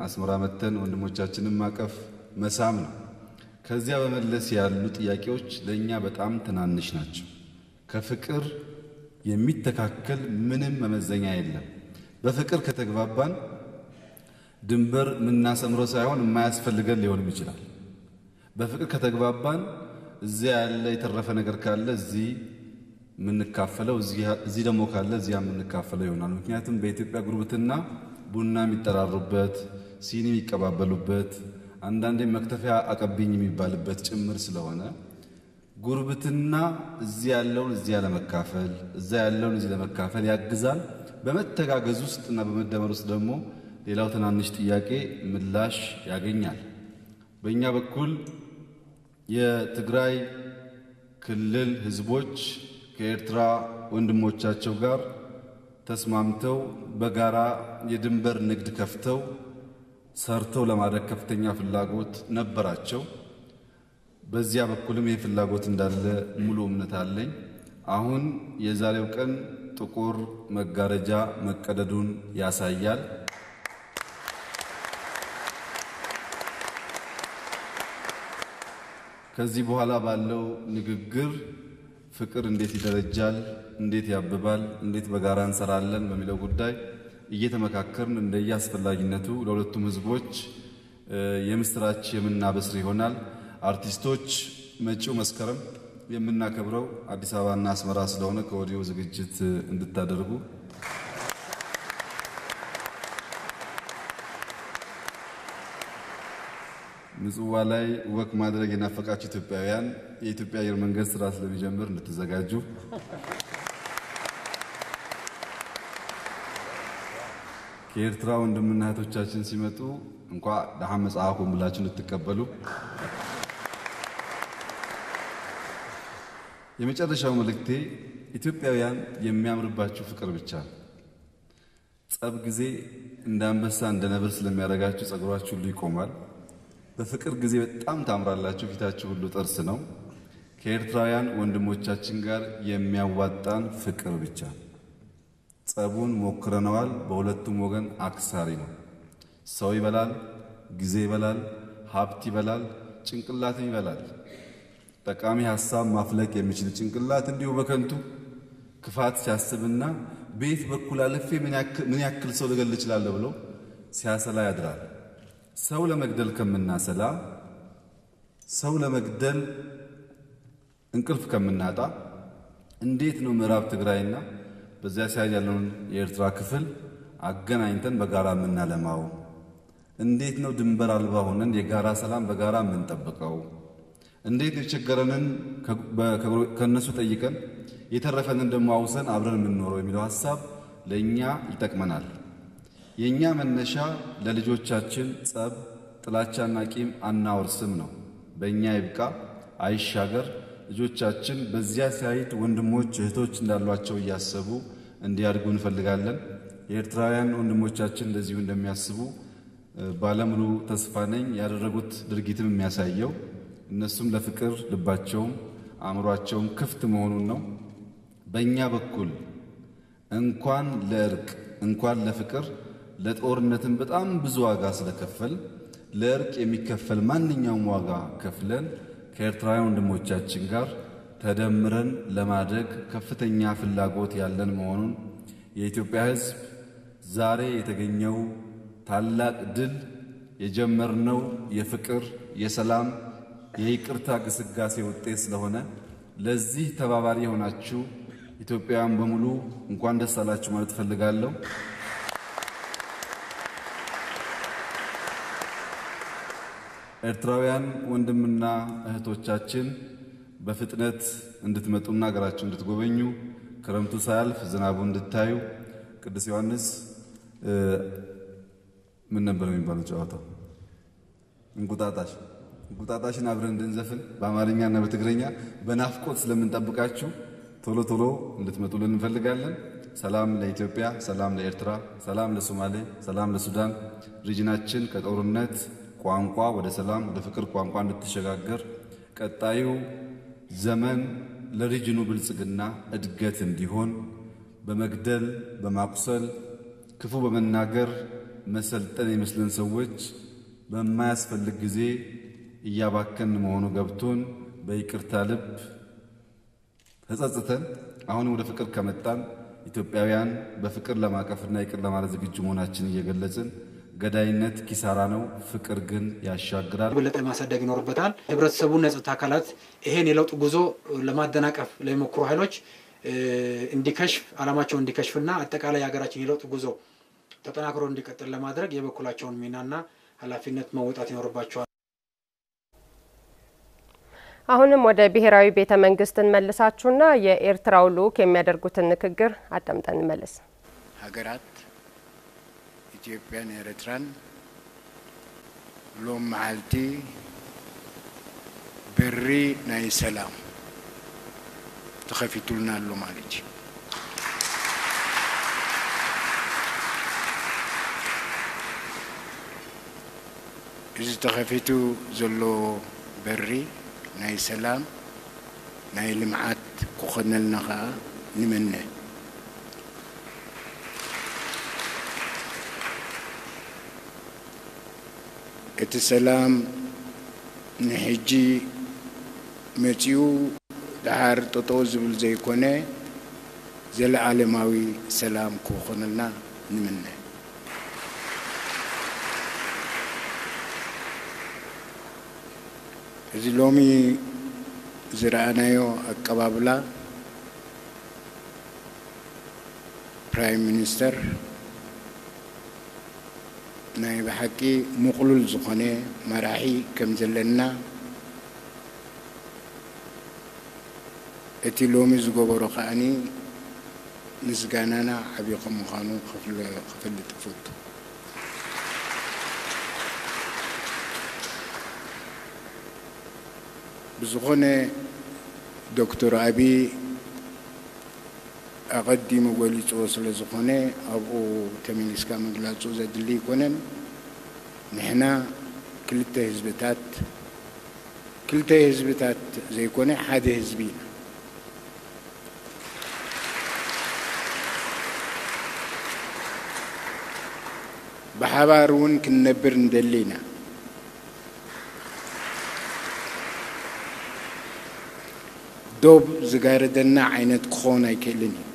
አስመራ መተን ወንድሞቻችንን ማቀፍ መሳም ነው። ከዚያ በመለስ ያሉ ጥያቄዎች ለእኛ በጣም ትናንሽ ናቸው። ከፍቅር የሚተካከል ምንም መመዘኛ የለም። በፍቅር ከተግባባን ድንበር የምናሰምረው ሳይሆን የማያስፈልገን ሊሆንም ይችላል። በፍቅር ከተግባባን እዚያ ያለ የተረፈ ነገር ካለ እዚህ የምንካፈለው፣ እዚህ እዚህ ደግሞ ካለ እዚያ የምንካፈለው ይሆናል። ምክንያቱም በኢትዮጵያ ጉርብትና ቡና የሚጠራሩበት፣ ሲኒ የሚቀባበሉበት፣ አንዳንዴ መክተፊያ አቀብኝ የሚባልበት ጭምር ስለሆነ ጉርብትና እዚህ ያለውን እዚያ ለመካፈል፣ እዛ ያለውን እዚህ ለመካፈል ያግዛል። በመተጋገዝ ውስጥ እና በመደመር ውስጥ ደግሞ ሌላው ትናንሽ ጥያቄ ምላሽ ያገኛል። በእኛ በኩል የትግራይ ክልል ህዝቦች ከኤርትራ ወንድሞቻቸው ጋር ተስማምተው በጋራ የድንበር ንግድ ከፍተው ሰርተው ለማደግ ከፍተኛ ፍላጎት ነበራቸው። በዚያ በኩልም ይህ ፍላጎት እንዳለ ሙሉ እምነት አለኝ። አሁን የዛሬው ቀን ጥቁር መጋረጃ መቀደዱን ያሳያል። ከዚህ በኋላ ባለው ንግግር ፍቅር እንዴት ይደረጃል፣ እንዴት ያብባል፣ እንዴት በጋራ እንሰራለን በሚለው ጉዳይ እየተመካከርን እንደየአስፈላጊነቱ ለሁለቱም ህዝቦች የምስራች የምናበስር ይሆናል። አርቲስቶች፣ መጪው መስከረም የምናከብረው አዲስ አበባና አስመራ ስለሆነ ከወዲሁ ዝግጅት እንድታደርጉ። ምጽዋ ላይ ወክ ማድረግ የናፈቃችሁ ኢትዮጵያውያን፣ የኢትዮጵያ አየር መንገድ ስራ ስለሚጀምር እንድትዘጋጁ። ከኤርትራ ወንድምና እህቶቻችን ሲመጡ እንኳ ደሓን መጻእኩም ብላችሁ እንድትቀበሉ። የመጨረሻው መልእክቴ፣ ኢትዮጵያውያን የሚያምርባችሁ ፍቅር ብቻ ነው። ጸብ ጊዜ እንደ አንበሳ እንደ ነብር ስለሚያደርጋችሁ ጸጉራችሁ ሁሉ ይቆማል። በፍቅር ጊዜ በጣም ታምራላችሁ፣ ፊታችሁ ሁሉ ጥርስ ነው። ከኤርትራውያን ወንድሞቻችን ጋር የሚያዋጣን ፍቅር ብቻ። ጸቡን ሞክረነዋል፣ በሁለቱም ወገን አክሳሪ ነው። ሰው ይበላል፣ ጊዜ ይበላል፣ ሀብት ይበላል፣ ጭንቅላትም ይበላል። ጠቃሚ ሐሳብ ማፍለቅ የሚችል ጭንቅላት እንዲሁ በከንቱ ክፋት ሲያስብና በየት በኩል አልፌ ምን ያክ- ምን ያክል ሰው ልገል እችላለሁ ብሎ ሲያሰላ ያድራል። ሰው ለመግደል ከምናሰላ፣ ሰው ለመግደል እንቅልፍ ከምናጣ፣ እንዴት ነው ምዕራብ ትግራይና በዚያ ሳይድ ያለውን የኤርትራ ክፍል አገናኝተን በጋራ የምናለማው? እንዴት ነው ድንበር አልባ ሆነን የጋራ ሰላም በጋራ የምንጠብቀው? እንዴት ነው የቸገረንን ከ- በ- ከእነሱ ጠይቀን የተረፈንን ደግሞ አውሰን አብረን የምንኖረው የሚለው ሐሳብ ለእኛ ይጠቅመናል። የእኛ መነሻ ለልጆቻችን ጸብ፣ ጥላቻና ቂም አናወርስም ነው። በእኛ ይብቃ አይሻገር። ልጆቻችን በዚያ ሳይድ ወንድሞች እህቶች እንዳሏቸው እያሰቡ እንዲያድጉ እንፈልጋለን። የኤርትራውያን ወንድሞቻችን እንደዚሁ እንደሚያስቡ ባለሙሉ ተስፋ ነኝ። ያደረጉት ድርጊትም የሚያሳየው እነሱም ለፍቅር ልባቸውም አእምሯቸውም ክፍት መሆኑን ነው። በእኛ በኩል እንኳን ለእርቅ እንኳን ለፍቅር ለጦርነትም በጣም ብዙ ዋጋ ስለከፈል ለእርቅ የሚከፈል ማንኛውም ዋጋ ከፍለን ከኤርትራውያን ወንድሞቻችን ጋር ተደምረን ለማደግ ከፍተኛ ፍላጎት ያለን መሆኑን የኢትዮጵያ ሕዝብ ዛሬ የተገኘው ታላቅ ድል የጀመርነው የፍቅር፣ የሰላም፣ የይቅርታ ግስጋሴ ውጤት ስለሆነ ለዚህ ተባባሪ የሆናችሁ ኢትዮጵያውያን በሙሉ እንኳን ደስ አላችሁ ማለት እፈልጋለሁ። ኤርትራውያን ወንድምና እህቶቻችን በፍጥነት እንድትመጡና ሀገራችሁ እንድትጎበኙ፣ ክረምቱ ሳያልፍ ዝናቡ እንድታዩ፣ ቅዱስ ዮሐንስ እ፣ ምን ነበር የሚባለው ጨዋታው? እንቁጣጣሽ። እንቁጣጣሽን አብረን እንድንዘፍን በአማርኛና በትግርኛ በናፍቆት ስለምንጠብቃችሁ ቶሎ ቶሎ እንድትመጡልን እንፈልጋለን። ሰላም ለኢትዮጵያ፣ ሰላም ለኤርትራ፣ ሰላም ለሶማሌ፣ ሰላም ለሱዳን። ሪጅናችን ከጦርነት ቋንቋ ወደ ሰላም ወደ ፍቅር ቋንቋ እንድትሸጋገር፣ ቀጣዩ ዘመን ለሪጅኑ ብልጽግና እድገት እንዲሆን በመግደል በማቁሰል ክፉ በመናገር መሰልጠን የሚመስለን ሰዎች በማያስፈልግ ጊዜ እያባከን መሆኑ ገብቶን በይቅርታ ልብ ተጸጽተን አሁንም ወደ ፍቅር ከመጣን ኢትዮጵያውያን በፍቅር ለማቀፍና ይቅር ለማለት ዝግጁ መሆናችን እየገለጽን፣ ገዳይነት ኪሳራ ነው፣ ፍቅር ግን ያሻግራል። የበለጠ ማሳደግ ይኖርበታል። ህብረተሰቡና የጸጥታ አካላት ይሄን የለውጥ ጉዞ ለማደናቀፍ ለሚሞክሩ ኃይሎች እንዲከሽፍ፣ ዓላማቸው እንዲከሽፍና አጠቃላይ የሀገራችን የለውጥ ጉዞ ተጠናክሮ እንዲቀጥል ለማድረግ የበኩላቸውን ሚናና ኃላፊነት መወጣት ይኖርባቸዋል። አሁንም ወደ ብሔራዊ ቤተ መንግስት እንመልሳችሁና የኤርትራው ልኡክ የሚያደርጉትን ንግግር አዳምጠን እንመለስ። ሃገራት ኢትዮጵያን ኤርትራን ሎም መዓልቲ በሪ ናይ ሰላም ተኸፊቱልና ኣሎ ማለት እዩ። እዚ ተኸፊቱ ዘሎ በሪ ናይ ሰላም ናይ ልምዓት ክኾነልና ኸኣ ንምነ። እቲ ሰላም ንሕጂ መጺኡ ደሓር ጠጠው ዝብል ዘይኮነ ዘለኣለማዊ ሰላም ክኾነልና ንምነ። እዚ ሎሚ ዝረኣናዮ ኣቀባብላ ፕራይም ሚኒስተር ናይ ብሓቂ ምቕሉል ዝኾነ መራሒ ከም ዘለና እቲ ሎሚ ዝገበሮ ከኣኒ ምስጋናና ዓቢ ከም ምዃኑ ክፍለ- ክፈልጥ እፈቱ። ብዝኾነ ዶክተር ኣቢ ኣቐዲሙ ገሊፅዎ ስለ ዝኾነ ኣብኡ ተመሊስካ ምግላፁ ዘድሊ ኣይኮነን። ንሕና ክልተ ህዝብታት ክልተ ህዝብታት ዘይኮነ ሓደ ህዝቢ ኢና። ብሓባር እውን ክንነብር ንደሊ ኢና። ዶብ ዝጋረደና ዓይነት ክኾን ኣይክእልን እዩ።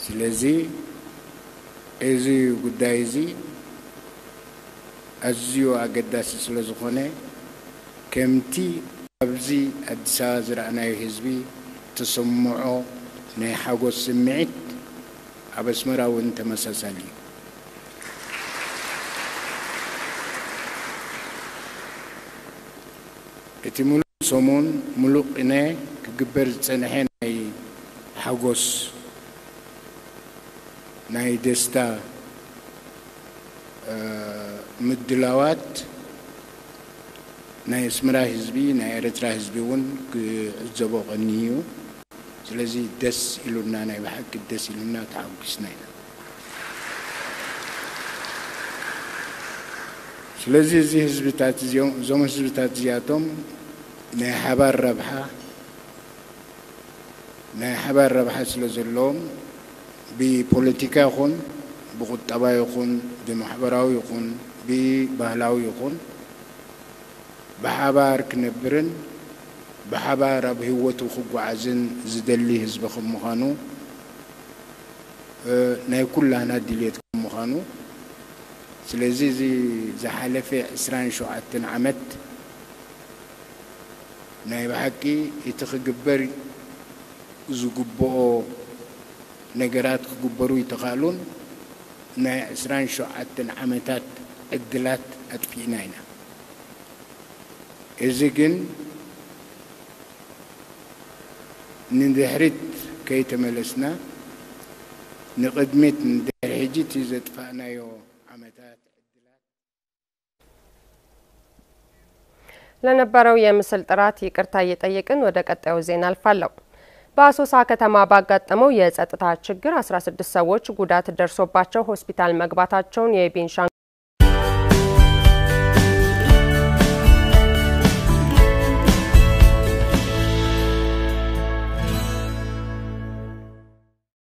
ስለዚ እዚ ጉዳይ እዚ ኣዝዩ ኣገዳሲ ስለ ዝኾነ ከምቲ ኣብዚ ኣዲስ ኣበባ ዝረኣናዮ ህዝቢ ተሰምዖ ናይ ሓጎስ ስምዒት ኣብ ኣስመራ እውን ተመሳሳሊ እዩ። እቲ ሙሉእ ሰሙን ሙሉእ ቅነ ክግበር ዝጸንሐ ናይ ሓጎስ ናይ ደስታ ምድላዋት ናይ ኣስመራ ህዝቢ ናይ ኤርትራ ህዝቢ እውን ክዕዘቦ ቀንዩ እዩ። ስለዚ ደስ ኢሉና ናይ ብሓቂ ደስ ኢሉና ተሓጒስና ኢና። ስለዚ እዚ ህዝብታት እዚኦም እዞም ህዝብታት እዚኣቶም ናይ ሓባር ረብሓ ናይ ሓባር ረብሓ ስለ ዘለዎም ብፖለቲካ ይኹን ብቁጠባ ይኹን ብማሕበራዊ ይኹን ብባህላዊ ይኹን ብሓባር ክነብርን ብሓባር ኣብ ህይወቱ ክጓዓዝን ዝደሊ ህዝቢ ከም ምዃኑ ናይ ኩላህና ድልየት ከም ምዃኑ ስለዚ እዚ ዝሓለፈ ዕስራን ሸውዓተን ዓመት ናይ ብሓቂ እቲ ክግበር ዝግብኦ ነገራት ክግበሩ ይተኻእሉን ናይ ዕስራን ሸውዓተን ዓመታት ዕድላት ኣጥፊእና ኢና። እዚ ግን ንድሕሪት ከይተመለስና ንቕድሚት ንድሕሪ ሕጂ እቲ ዘጥፋእናዮ ዓመታት ዕድላት ለነበረው የምስል ጥራት ይቅርታ እየጠየቅን ወደ ቀጣዩ ዜና አልፋለሁ። በአሶሳ ከተማ ባጋጠመው የጸጥታ ችግር አስራ ስድስት ሰዎች ጉዳት ደርሶባቸው ሆስፒታል መግባታቸውን የቤንሻንጉል